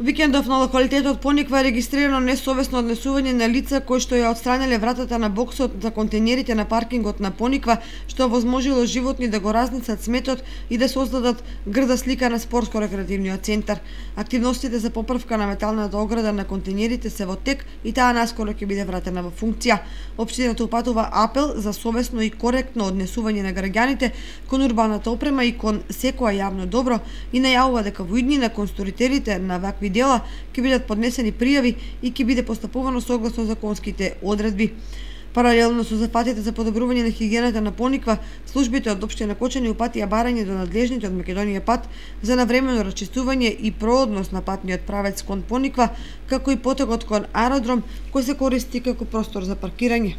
Викендов на локалитетот Пониква е регистрирано несовесно однесување на лица кои што ја отстраниле вратата на боксот за контейнерите на паркингот на Пониква, што возможило животни да го разнесат сметот и да создадат грда слика на спортско-рекреативниот центар. Активностите за поправка на металната ограда на контейнерите се во тек и таа наскоро ќе биде вратена во функција. Општината упатува апел за совесно и коректно однесување на граѓаните кон урбаната опрема и кон секоја јавно добро и најавува дека во иднина кон сторитерите на вакви дела ќе бидат поднесени пријави и ќе биде постапувано согласно законските одредби. Паралелно со зафатите за подобрување на хигиената на Пониква, службите од општина Кочани упатија барање до надлежните од Македонија пат за навремено расчистување и проодност на патниот правец кон Пониква, како и потегот кон аеродром кој се користи како простор за паркирање.